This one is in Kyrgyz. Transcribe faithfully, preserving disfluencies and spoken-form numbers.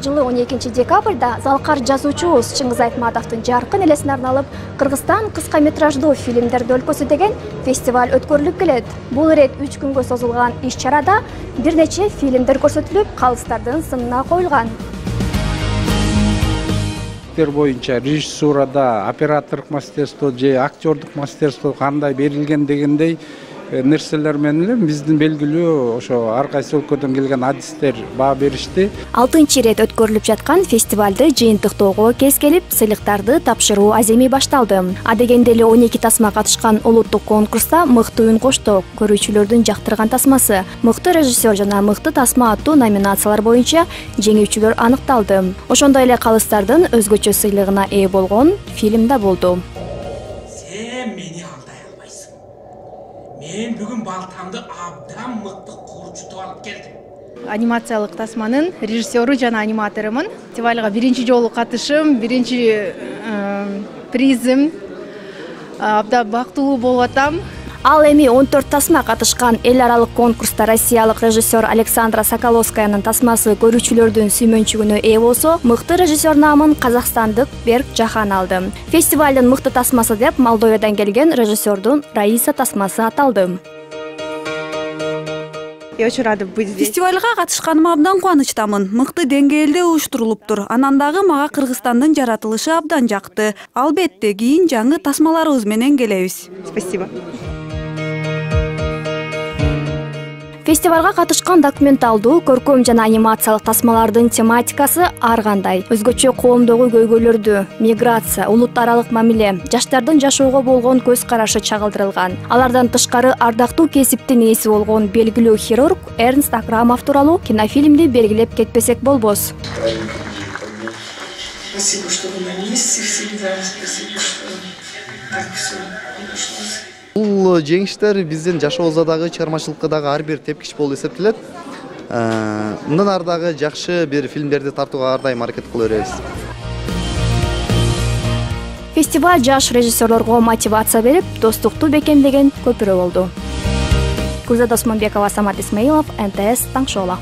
жылы он экинчи декабрда залкар жазуучубуз Чыңгыз Айтматовдун жаркын элесине арналып Кыргызстан кыска метраждуу фильмдерди өлкөсү деген фестиваль өткөрүлүп келет. Бул ирет үч күнгө созулган иш-чарада бир нече фильмдер көрсөтүлүп, калыстардын сынына коюлган. Боюнча режиссурада, оператордук мастерство же актердук мастерство кандай берилген дегендей нерселер менен биздин белгилүү ошо ар кайсы өлкөдөн келген адистер баа беришти. алтынчы ирет өткөрүлүп жаткан фестивалды жыйынтыктоого кез келип, сыйлыктарды тапшыруу аземи башталды. А дегенде эле он эки тасма катышкан улуттук конкурста мыкты үн кошток, көрүүчүлөрдүн жактырган тасмасы, мыкты режиссер жана мыкты тасма аттуу номинациялар боюнча жеңүүчүлөр аныкталды. Ошондой эле калыстардын өзгөчө сыйлыгына ээ болгон фильм да болду. Мен бүгүн балтамды абдан мыкты курчутуп алып келдим. Анимациялык тасманын режиссеру жана аниматорумун. Фестивалга биринчи жолу катышым, биринчи призим. Абдан бактылуу болуп атам. Ал эми он төрт тасма катышкан эл аралык конкурста россиялык режиссер Александра Соколовскаянын тасмасы көрүүчүлөрдүн сүймөнчүгүнө ээ болсо, мыкты режиссер наамын казакстандык Берк Жахан алды. Фестивалдын мыкты тасмасы деп Молдовиядан келген режиссердун Раиса тасмасы аталды. Я очень рада быть здесь. Фестивалга катышканыма абдан кубанычтамын. Мыкты деңгээлде уюштурулуптур. Анан дагы мага Кыргызстандын жаратылышы абдан жакты. Албетте кийин жаңы тасмаларыбыз менен келебиз. Спасибо. Фестивалга катышкан документалдуу, көркөм жана анимациялык тасмалардын тематикасы ар кандай. Өзгөчө коомдогу көйгөйлөрдү, миграция, улут аралык мамиле, жаштардын жашоого болгон көз карашы чагылдырылган. Алардан тышкары ардактуу кесиптин ээси болгон белгилүү хирург Эрнст Акрамов тууралуу кинофильмди белгилеп кетпесек болбос. Спасибо, что вы на месте всегда. Спасибо, что так все обошлось. Бул жеңиштер биздин жашообузда дагы, чыгармачылыкта дагы ар бир тепкич болуп эсептелет. Мындан ары дагы жакшы бир фильмдерди тартууга ар дайым аракет кыла беребиз. Фестиваль жаш режиссерлорго мотивация берип, достукту бекемдеген көпүрө болду. Гүлзада Осмонбекова, Самат Исмаилов, эн тэ эс Таң шоу.